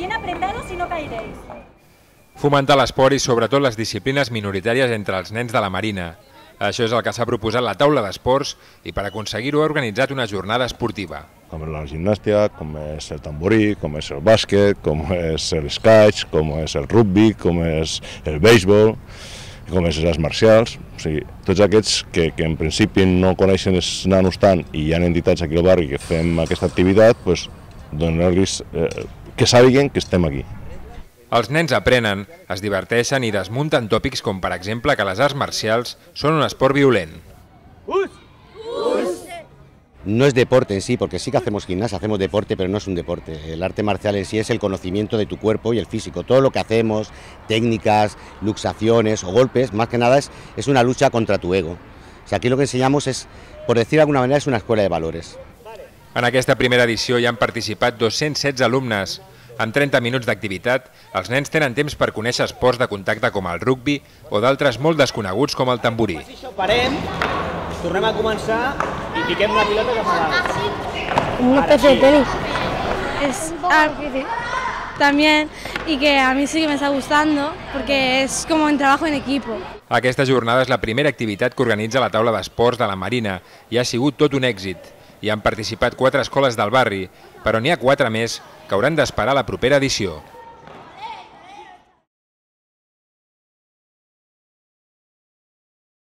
Bien apretados y no caeréis. Fomentar l'esport i sobretot les disciplines minoritàries entre els nens de la Marina. Això és el que s'ha proposat la taula d'esports i per aconseguir-ho ha organitzat una jornada esportiva. Com és la gimnàstica, com és el tamborí, com és el bàsquet, com és el squash, com és el rugby, com és el béisbol, com és les arts marcials. O sigui, tots aquests que en principi no coneixen els nanos tant i hi ha entitats aquí al barri que fem aquesta activitat, doncs donar-los que sàpiguen que estem aquí. Els nens aprenen, es diverteixen i desmunten tòpics com, per exemple, que les arts marcials són un esport violent. No es deporte en sí, porque sí que hacemos gimnasia, hacemos deporte, pero no es un deporte. El arte marcial en sí es el conocimiento de tu cuerpo y el físico. Todo lo que hacemos, técnicas, luxaciones o golpes, más que nada es una lucha contra tu ego. O sea, aquí lo que enseñamos es, por decir de alguna manera, es una escuela de valores. En aquesta primera edició hi han participat 216 alumnes. En 30 minuts d'activitat, els nens tenen temps per conèixer esports de contacte com el rugby o d'altres molt desconeguts com el tamborí. Parem, tornem a començar y piquem una pilota cap a dalt. Una especie de tenis. Es algo difícil también y que a mí sí que me está gustando porque es como un trabajo en equipo. Aquesta jornada és la primera activitat que organitza la taula d'esports de la Marina i ha sigut tot un èxit. Hi han participat 4 escoles del barri, però n'hi ha 4 més que hauran d'esperar la propera edició.